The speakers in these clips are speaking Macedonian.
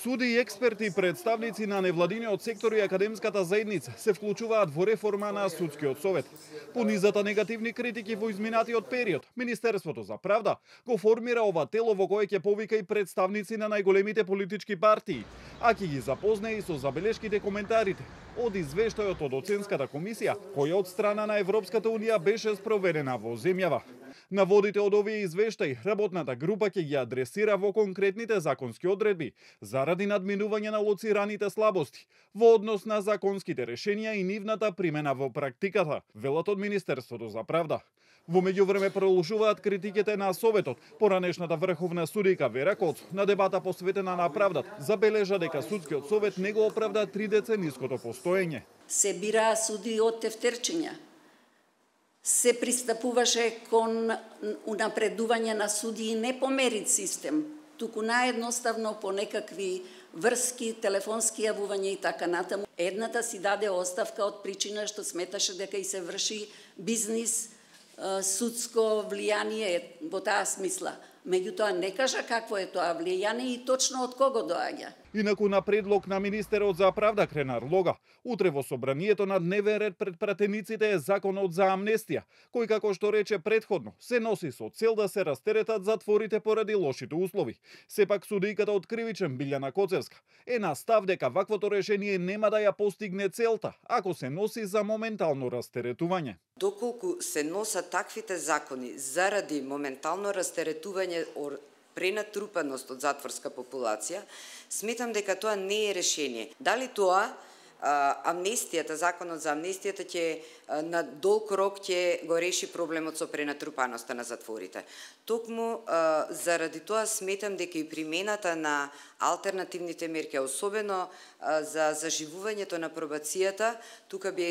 Суди и експерти и представници на невладиниот сектор и академската заедница се вклучуваат во реформа на судскиот совет. По низата негативни критики во изминатиот период, Министерството за правда го формира ова тело во кое ќе повика и представници на најголемите политички партии, а ќе ги запознае и со забелешките коментарите од извештајот од оценската комисија, која од страна на Европската унија беше спроведена во земјава. Наводите од овие извештаи, работната група ќе ги адресира во конкретните законски одредби, заради надминување на лоцираните слабости во однос на законските решенија и нивната примена во практиката, велат од Министерството за правда. Во меѓувреме продолжуваат критиките на Советот. Поранешната врховна судика Вера Коц на дебата посветена на правдата забележа дека судскиот совет не го оправда 3-децениското постоење. Се бираа суди од тефтерчиња. Се пристапуваше кон унапредување на суди не по мерит систем, туку наедноставно по некакви врски, телефонски јавувања и така натаму. Едната си даде оставка од причина што сметаше дека и се врши бизнис, судско влијание во таа смисла. Меѓутоа не кажа какво е тоа влијание и точно од кого доаѓа. Инаку на предлог на министерот за правда Кренар Лога, утре во собранието на дневен ред пред пратениците е законот за амнестија, кој како што рече претходно се носи со цел да се растеретат затворите поради лошите услови. Сепак судиката од Кривичен Билјана Коцевска е на став дека ваквото решение нема да ја постигне целта, ако се носи за моментално растеретување. Доколку се носат таквите закони заради моментално растеретување пренатрупаност од затворска популација, сметам дека тоа не е решение. Дали тоа амнестијата, законот за амнестијата ќе на долг рок ќе го реши проблемот со пренатрупаноста на затворите. Токму заради тоа сметам дека и примената на алтернативните мерки, особено за заживувањето на пробацијата, тука би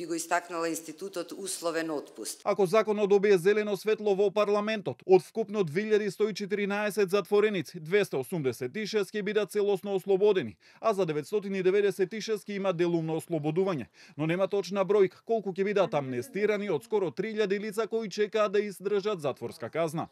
го истакнала институтот условен отпуст. Ако законот добие зелено светло во парламентот, од вкупно 2114 затвореници, 286 ќе бидат целосно ослободени, а за 996 ќе има делумно ослободување. Но нема точна бројка колку ќе бидат амнестирани од скоро 3000 лица кои чекаат да издржат затворска казна.